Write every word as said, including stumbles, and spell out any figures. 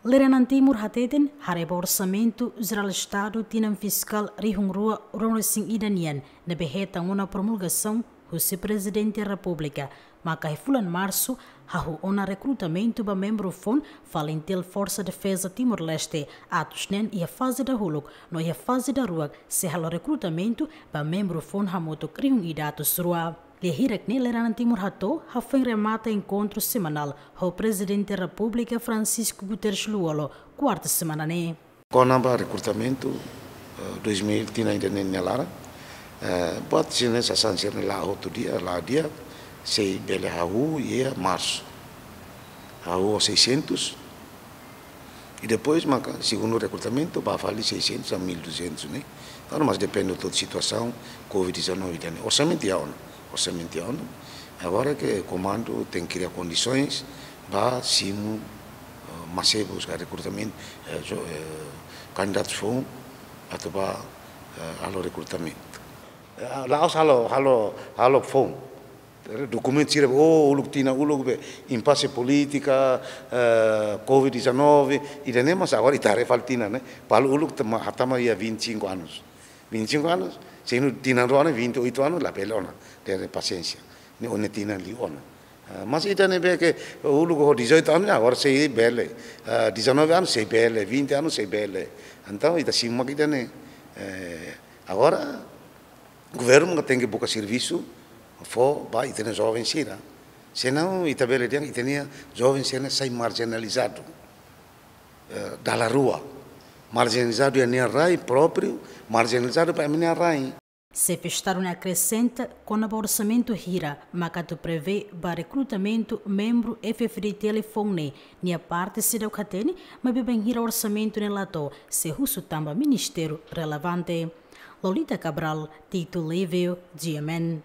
Lideransa Timor hateten, haree ba Orsamentu Jerál Estadu tinan fiskál rihun rua ruanulu-resin-ida nian ne'ebé hetan ona promulgasaun husi Prezidente Repúblika, maka iha fulan Marsu hahú ona rekrutamentu ba membru foun FALINTIL Forsa Defeza Timor-Leste, atus neen iha faze dahuluk, no iha faze daruak sei halo rekrutamentu ba membru foun hamutuk rihun ida atus rua. Lia hirak ne'e lideransa Timor hato'o hafoin remata enkontru semanál ho Prezidente Repúblika Francisco Guterres Lú Olo, kuarta semana ne'e. Kona-ba rekrutamentu, eh, dois mil tinan ida-ne'e nia laran, eh, buat sira-ne'e sasán sira-ne'e la'o hotu di'ak, la'o di'ak, sei bele hahú iha Marsu. Hahú seiscentos, i depois maka segundu rekrutamentu ba fali seiscentos a mil duzentos ne'e. Entaun, mas depende hotu situasaun covid dezanove ida-ne'e. Orsamentu iha ona, orsamentu iha ona. Agora ke komandu tenke kria kondisoens ba simu, eh, mase buska rekrutamentu, eh, jo-, eh, kandidatu foun atu ba, eh, halo rekrutamentu. Eh, la'ós halo, halo, halo foun. Dokumentu sira, oh, uluk tinan uluk be, impase polítika, eh, covid dezanove, ida-ne'e mas agora ita haree fali tinan ne'e, balu uluk tama, hatama iha vinte e cinco anos. Vinte e cinco anos, se inu tinan rua ne'e vinte e oito anos, labele ona, tenke pasiénsia. Ne'e ó-nia tinan liu ona. Eh, mas ida-ne'ebé ke uluk ho dezoito anos, agora sei bele. Eh, dezanove anos, sei bele. Vinte anos, sei bele. Entaun, ita simu mak ida-ne'e. Eh, agora, governu maka tenke buka servisu fó ba ita-nia joven sira. Senão, ita bele dehan ita-nia joven sira sai marjinalizadu. Eh, dala rua. Marjinalizadu iha nia rai própriu, marjinalizadu ba ema nia rai. Xefe Estadu ne'e akresenta kona-ba orsamentu hira maka atu prevee ba rekrutamentu membru F-FDTL foun ne'e, nia parte seidauk hatene, maibé bainhira orsamentu ne'e la to'o, sei husu tan ba ministériu relevante. Lolita Cabral, Tito Livio, G M N.